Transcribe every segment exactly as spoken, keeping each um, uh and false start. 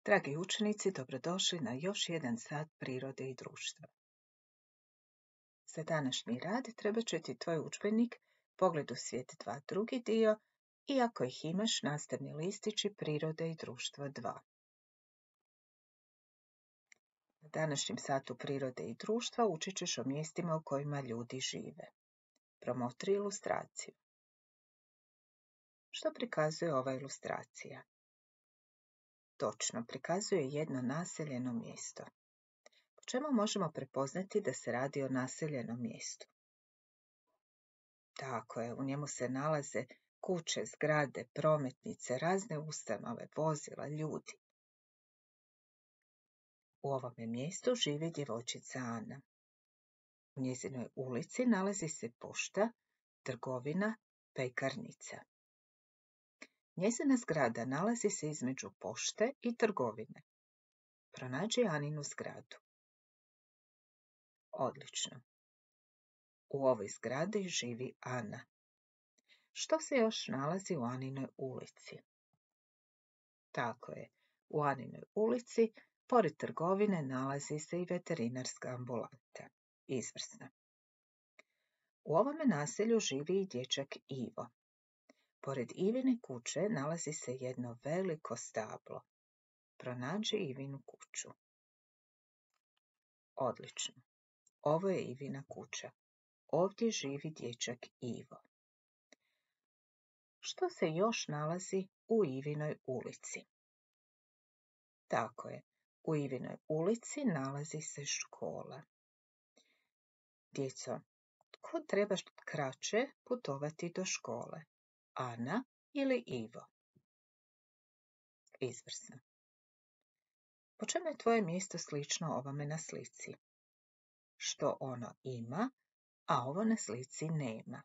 Dragi učenici, dobrodošli na još jedan sat prirode i društva. Za današnji rad treba će ti tvoj udžbenik Pogled u svijet dva drugi dio i ako ih imaš nastavni listići Prirode i društvo dva. Na današnjem satu prirode i društva učit ćeš o mjestima u kojima ljudi žive. Promotri ilustraciju. Što prikazuje ova ilustracija? Točno, prikazuje jedno naseljeno mjesto. Po čemu možemo prepoznati da se radi o naseljenom mjestu? Tako je, u njemu se nalaze kuće, zgrade, prometnice, razne ustanove, vozila, ljudi. U ovome mjestu živi djevojčica Ana. U njezinoj ulici nalazi se pošta, trgovina, pekarnica. Njezina zgrada nalazi se između pošte i trgovine. Pronađi Aninu zgradu. Odlično. U ovoj zgradi živi Ana. Što se još nalazi u Aninoj ulici? Tako je, u Aninoj ulici, pored trgovine, nalazi se i veterinarska ambulanta. Izvrsno. U ovome naselju živi i dječak Ivo. Pored Ivine kuće nalazi se jedno veliko stablo. Pronađi Ivinu kuću. Odlično. Ovo je Ivina kuća. Ovdje živi dječak Ivo. Što se još nalazi u Ivinoj ulici? Tako je, u Ivinoj ulici nalazi se škola. Djeco, tko treba kraće putovati do škole? Ana ili Ivo? Izvrsno. Po čemu je tvoje mjesto slično ovome na slici? Što ono ima, a ovo na slici nema?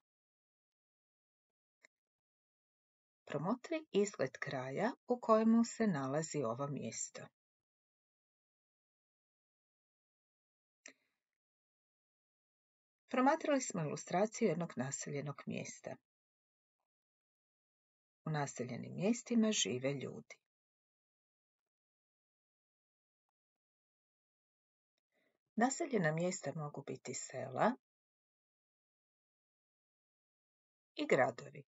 Promotri izgled kraja u kojemu se nalazi ovo mjesto. Promatrali smo ilustraciju jednog naseljenog mjesta. U naseljenim mjestima žive ljudi. Naseljena mjesta mogu biti sela i gradovi.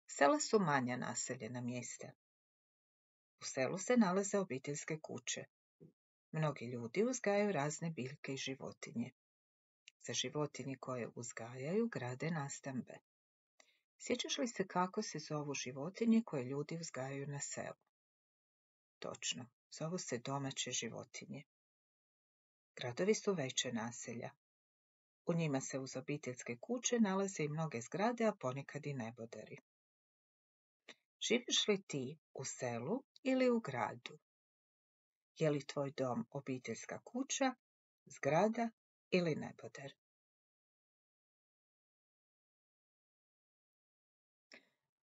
Sela su manja naseljena mjesta. U selu se nalaze obiteljske kuće. Mnogi ljudi uzgajaju razne biljke i životinje. Za životinje koje uzgajaju grade nastambe. Sjećaš li se kako se zovu životinje koje ljudi uzgajaju na selu? Točno, zovu se domaće životinje. Gradovi su veće naselja. U njima se uz obiteljske kuće nalaze i mnoge zgrade, a ponekad i neboderi. Živiš li ti u selu ili u gradu? Je li tvoj dom obiteljska kuća, zgrada ili neboder?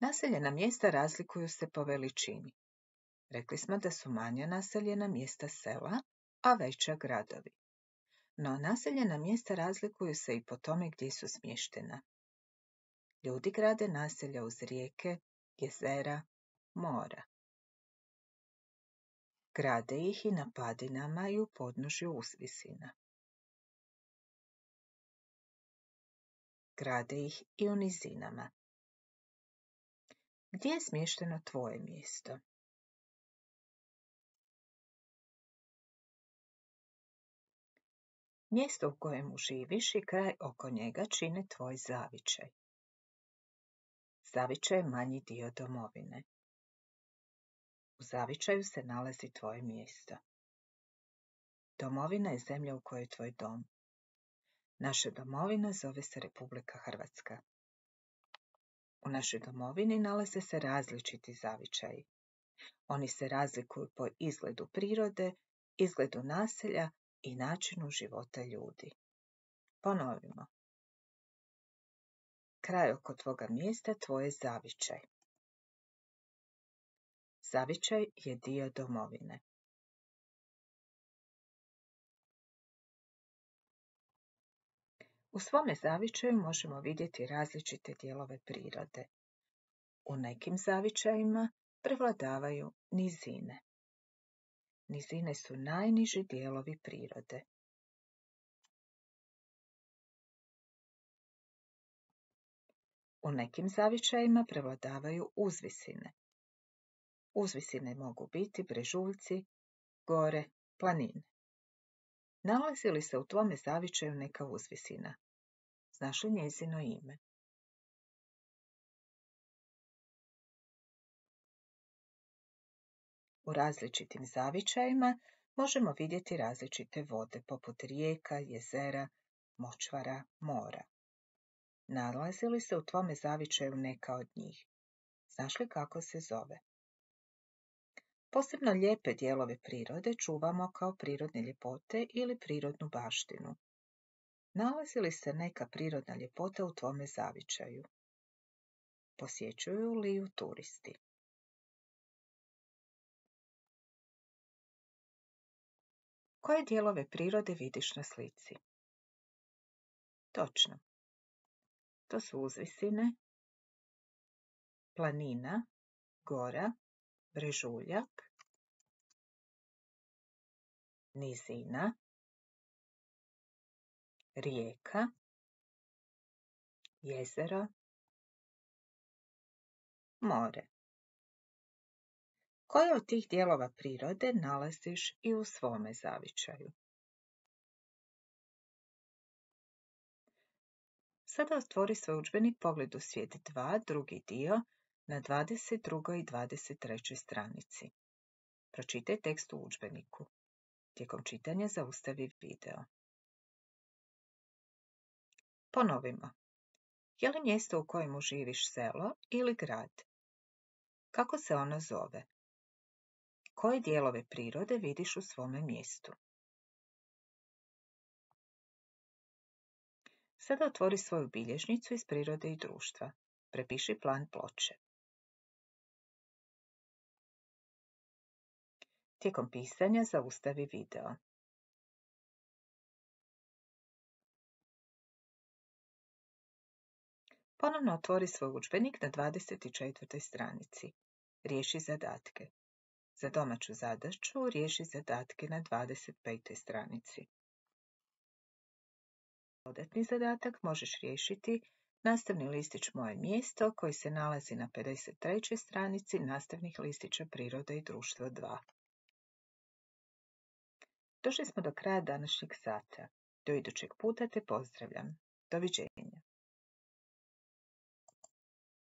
Naseljena mjesta razlikuju se po veličini. Rekli smo da su manja naseljena mjesta sela, a veća gradovi. No naseljena mjesta razlikuju se i po tome gdje su smještena. Ljudi grade naselja uz rijeke, jezera, mora. Grade ih i na padinama i u podnožju uzvisina. Grade ih i u nizinama. Gdje je smješteno tvoje mjesto? Mjesto u kojemu živiš i kraj oko njega čine tvoj zavičaj. Zavičaj je manji dio domovine. U zavičaju se nalazi tvoje mjesto. Domovina je zemlja u kojoj je tvoj dom. Naša domovina zove se Republika Hrvatska. U našoj domovini nalaze se različiti zavičaji. Oni se razlikuju po izgledu prirode, izgledu naselja i načinu života ljudi. Ponovimo. Kraj oko tvoga mjesta tvoj je zavičaj. Zavičaj je dio domovine. U svome zavičaju možemo vidjeti različite dijelove prirode. U nekim zavičajima prevladavaju nizine. Nizine su najniži dijelovi prirode. U nekim zavičajima prevladavaju uzvisine. Uzvisine mogu biti brežuljci, gore, planine. Nalazi li se u tvome zavičaju neka uzvisina? Znaš li njezino ime? U različitim zavičajima možemo vidjeti različite vode, poput rijeka, jezera, močvara, mora. Nalazi li se u tvome zavičaju neka od njih? Znaš li kako se zove? Posebno lijepe dijelove prirode čuvamo kao prirodne ljepote ili prirodnu baštinu. Nalazi li se neka prirodna ljepota u tvome zavičaju? Posjećuju li ju turisti? Koje dijelove prirode vidiš na slici? Točno. To su uzvisine, planina, gora, brežuljak, nizina, rijeka, jezero, more. Koje od tih dijelova prirode nalaziš i u svome zavičaju? Sada otvori svoj udžbenik Pogled u svijet dva, drugi dio, na dvadeset drugoj i dvadeset trećoj stranici. Pročitaj tekst u udžbeniku. Tijekom čitanja zaustavi video. Ponovimo. Je li mjesto u kojemu živiš selo ili grad? Kako se ono zove? Koje dijelove prirode vidiš u svome mjestu? Sada otvori svoju bilježnicu iz prirode i društva. Prepiši plan ploče. Tijekom pisanja zaustavi video. Ponovno otvori svoj udžbenik na dvadeset četvrtoj stranici. Riješi zadatke. Za domaću zadaću riješi zadatke na dvadeset petoj stranici. Dodatni zadatak možeš riješiti nastavni listić Moje mjesto koji se nalazi na pedeset trećoj stranici nastavnih listića Priroda i društvo dva. Došli smo do kraja današnjeg sata. Do idućeg puta te pozdravljam. Doviđenja.